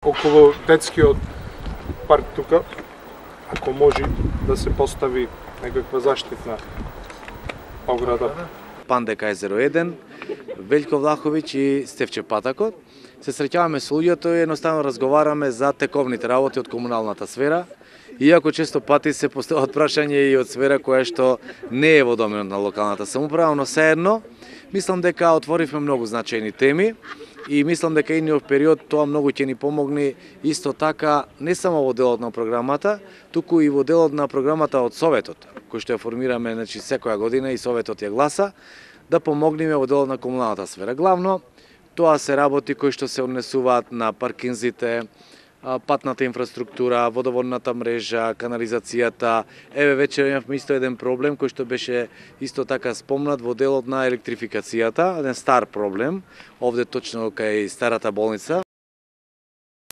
околу детскиот парк тука, ако може да се постави некаква заштитна ограда. Пандека езеро 1, Велјко Влаховиќ и Стефче Патакот. Се среќаваме со луѓето и едноставно разговараме за тековните работи од комуналната сфера. Иако често пати се постават прашања и од сфера која што не е во доменот на локалната самоуправа, но сеедно мислам дека отворивме многу значајни теми и мислам дека идниот период тоа многу ќе ни помогне исто така не само во делот на програмата, туку и во делот на програмата од Советот, кој што ја формираме секоја година и Советот ја гласа, да помогнеме во делот на комуналната сфера. Главно, тоа се работи кои што се однесуваат на паркинзите, патната инфраструктура, водоводната мрежа, канализацијата. Еве вечер имавме исто еден проблем кој што беше исто така спомнат во делот на електрификацијата, еден стар проблем, овде точно кај старата болница.